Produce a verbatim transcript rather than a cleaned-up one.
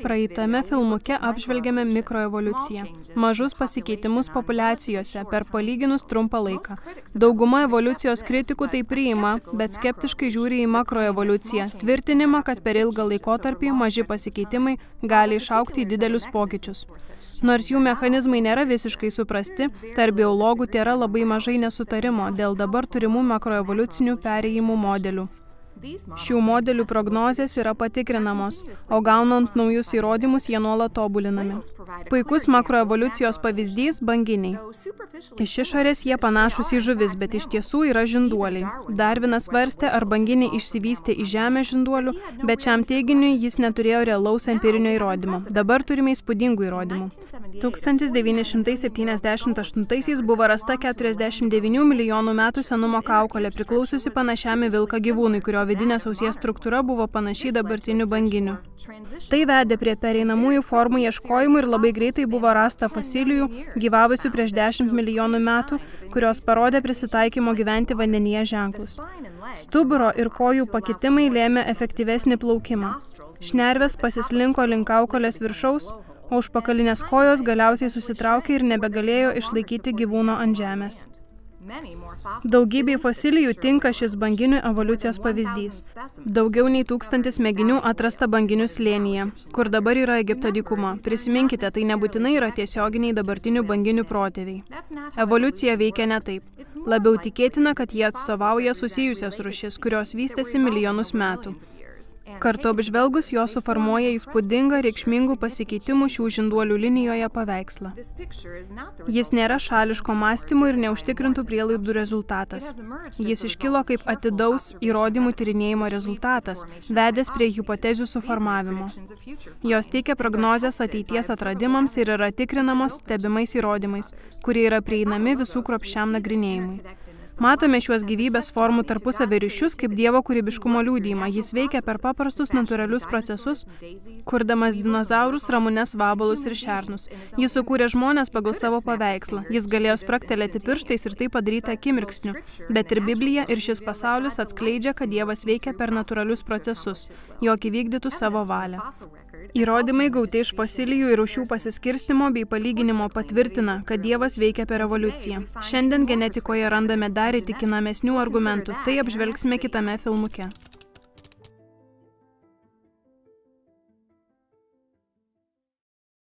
Praeitame filmuke apžvelgėme mikroevoliuciją, mažus pasikeitimus populiacijose per palyginus trumpą laiką. Dauguma evoliucijos kritikų tai priima, bet skeptiškai žiūri į makroevoliuciją, tvirtinimą, kad per ilgą laikotarpį maži pasikeitimai gali išaugti į didelius pokyčius. Nors jų mechanizmai nėra visiškai suprasti, tarp biologų tėra labai mažai nesutarimo dėl dabar turimų makroevoliucinių perėjimų modelių. Šių modelių prognozės yra patikrinamos, o gaunant naujus įrodymus jie nuolat tobulinami. Puikus makroevoliucijos pavyzdys – banginiai. Iš išorės jie panašus į žuvis, bet iš tiesų yra žinduoliai. Darvinas svarstė, ar banginiai išsivystė į žemę žinduolių, bet šiam teiginiui jis neturėjo realaus empirinio įrodymo. Dabar turime įspūdingų įrodymų. tūkstantis devyni šimtai septyniasdešimt aštuntaisiais buvo rasta keturiasdešimt devynių milijonų metų senumo kaukolė, priklausiusi panašiam į vilką gyvūnui, kurio vidinės ausies struktūra buvo panašiai dabartinių banginių. Tai vedė prie pereinamųjų formų ieškojimų ir labai greitai buvo rasta fosilijų, gyvavusių prieš dešimt milijonų metų, kurios parodė prisitaikymo gyventi vandenyje ženklus. Stuburo ir kojų pakitimai lėmė efektyvesnį plaukimą. Šnervės pasislinko link kaukolės viršaus, o užpakalinės kojos galiausiai susitraukė ir nebegalėjo išlaikyti gyvūno ant žemės. Daugybei fosilijų tinka šis banginių evoliucijos pavyzdys. Daugiau nei tūkstantis mėginių atrasta banginių slėnyje, kur dabar yra Egipto dykuma. Prisiminkite, tai nebūtinai yra tiesioginiai dabartinių banginių protėviai. Evoliucija veikia ne taip. Labiau tikėtina, kad jie atstovauja susijusias rūšis, kurios vystėsi milijonus metų. Kartu apžvelgus, jos suformuoja įspūdingą reikšmingų pasikeitimų šių žinduolių linijoje paveikslą. Jis nėra šališko mąstymo ir neužtikrintų prielaidų rezultatas. Jis iškilo kaip atidaus įrodymų tyrinėjimo rezultatas, vedęs prie hipotezių suformavimo. Jos teikia prognozes ateities atradimams ir yra tikrinamos stebimais įrodymais, kurie yra prieinami visų kruopščiam nagrinėjimui. Matome šiuos gyvybės formų tarpusavio ryšius kaip Dievo kūrybiškumo liudijimą. Jis veikia per paprastus natūralius procesus, kurdamas dinozaurus, ramunes, vabalus ir šernus. Jis sukūrė žmones pagal savo paveikslą. Jis galėjo spragtelėti pirštais ir tai padaryti akimirksniu. Bet ir Biblija ir šis pasaulis atskleidžia, kad Dievas veikia per natūralius procesus, jog įvykdytų savo valią. Įrodymai gauti iš fosilijų ir rūšių pasiskirstimo bei palyginimo patvirtina, kad Dievas veikia per evoliuciją. Šiandien genetikoje randame dar įtikinamesnių argumentų, tai apžvelgsime kitame filmuke.